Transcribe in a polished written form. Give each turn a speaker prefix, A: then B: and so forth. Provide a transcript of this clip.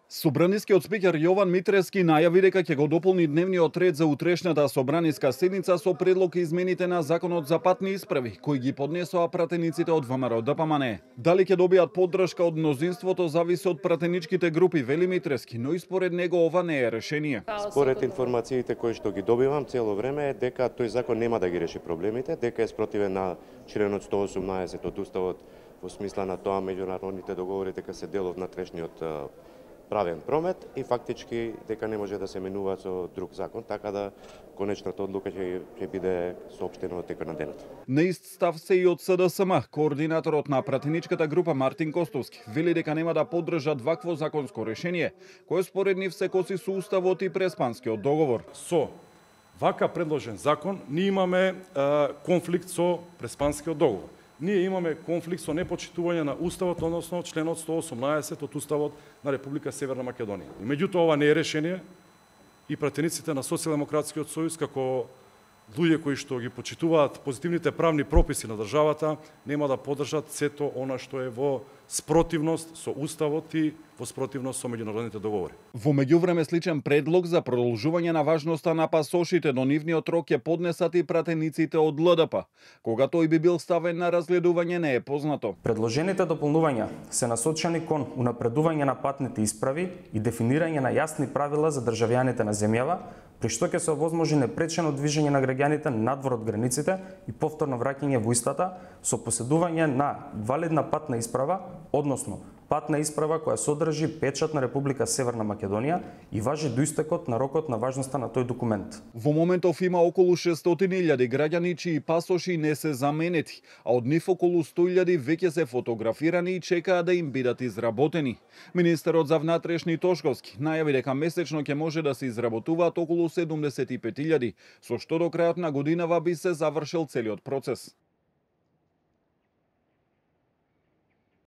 A: Собранискиот спикер Јован Митрески најави дека ќе го дополни дневниот ред за утрешната собраниска седница со предлог измените на Законот за патни исправи, кои ги поднесоа пратениците од ВМРО ДПМН. Дали ќе добијат поддршка од мнозинството зависи од пратеничките групи, вели Митрески, но и според него ова не е решение.
B: Според информациите кои што ги добивам цело време е дека тој закон нема да ги реши проблемите, дека е спротивен на членот 118 од Уставот во смисла на тоа меѓународните договори дека се дел од внатрешниот правен промет и фактички дека не може да се менува со друг закон, така да конечната одлука ќе биде соопштена во текот на денот.
A: На ист став се и од СДСМ, координаторот на пратеничката група Мартин Костовски вели дека нема да поддржат вакво законско решение, кое според нив се коси со уставот и Преспанскиот договор.
C: Со вака предложен закон ние имаме конфликт со Преспанскиот договор. Ние имаме конфликт со непочитување на Уставот, односно членот 118 од Уставот на Република Северна Македонија. И меѓутоа ова не е решение и пратениците на Социјалдемократскиот сојуз како луѓе кои што ги почитуваат позитивните правни прописи на државата нема да поддржат сето она што е во спротивност со Уставот и во спротивност со меѓународните договори.
A: Во меѓувреме сличен предлог за продолжување на важноста на пасошите до нивниот рок ќе поднесат и пратениците од ЛДП. Кога тој би бил ставен на разгледување не е познато.
D: Предложените дополнувања се насочени кон унапредување на патните исправи и дефинирање на јасни правила за државјаните на земјава, при што ќе се овозможи непречено движење на граѓаните надвор од границите и повторно враќање во истата со поседување на валидна патна исправа, односно патна исправа која содржи печат на Република Северна Македонија и важи до истекот на рокот на важноста на тој документ.
A: Во моментов има околу 600.000 граѓани чии пасоши не се заменети, а од нив околу 100.000 веќе се фотографирани и чекаат да им бидат изработени. Министерот за внатрешни Тошковски најави дека месечно ќе може да се изработуваат околу 75.000, со што до крајот на годинава би се завршил целиот процес.